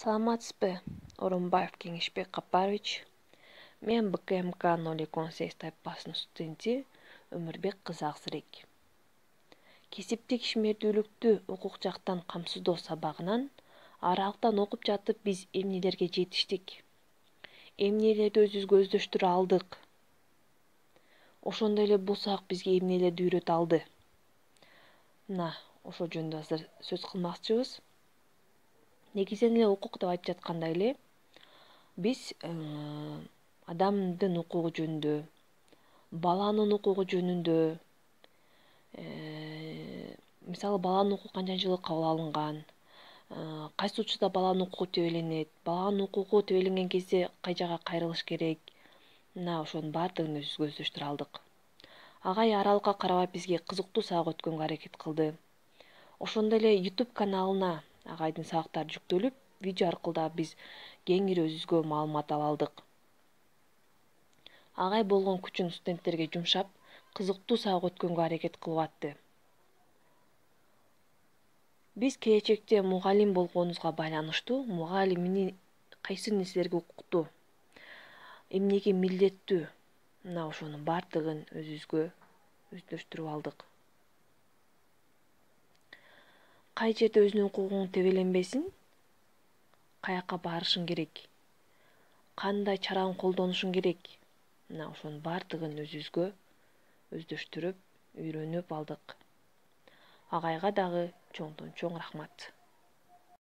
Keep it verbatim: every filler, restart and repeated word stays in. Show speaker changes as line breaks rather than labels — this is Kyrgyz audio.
Саламатсызбы, Орунбаев Кеңешбек Капарович. Мен Б К М К ноль эки он сегиз тайпасынын студенти Өмүрбек кызы Аксырек. Кесиптик ишмердүүлүктү укук жактан камсыздоо сабагынан аралыктан окуп жатып биз эмнелерге жетиштик? Эмнелерди өзүбүзгө өздөштүрө алдык? Ошондой эле бул сабак бизге эмнелерди үйрөтө алды? Мына ошол жөнүндө азыр сөз кылмакчыбыз. Негизинен эле укук деп айтып жатканда эле биз адамдын укугу жөнүндө, баланын укугу жөнүндө, мисалы баланын укугу канчанчылык кабыл алынган, кайсы учурда баланын укугу тебеленет, баланын укугу тебеленген кезде кай жакка кайрылыш керек, мына ошонун баардыгын өзүбүзгө өздөштүрө алдык. Агай аралыкка карабай бизге кызыктуу сабак өткөнгө аракет кылды. Ошондой эле YouTube каналына агайдын сабактары жүктөлүп, видео аркылуу да биз кеңири өзүбүзгө маалымат ала алдык. Агай болгон күчүн студенттерге жумшап, кызыктуу сабак өткөнгө аракет кылып атты. Биз келечекте мугалим болгонубузга байланыштуу мугалим эмне кайсы нерселерге укуктуу, эмнеге милдеттүү, мына ошонун баардыгын өзүбүзгө өздөштүрүп алдык. Кай жерде өзүнүн укугуң тебеленбесин, каякка барышың керек, кандай чараны колдонушуң керек, мына ошонун баардыгын өзүбүзгө өздөштүрүп, үйрөнүп алдык. Агайга дагы чоңдон чоң рахмат.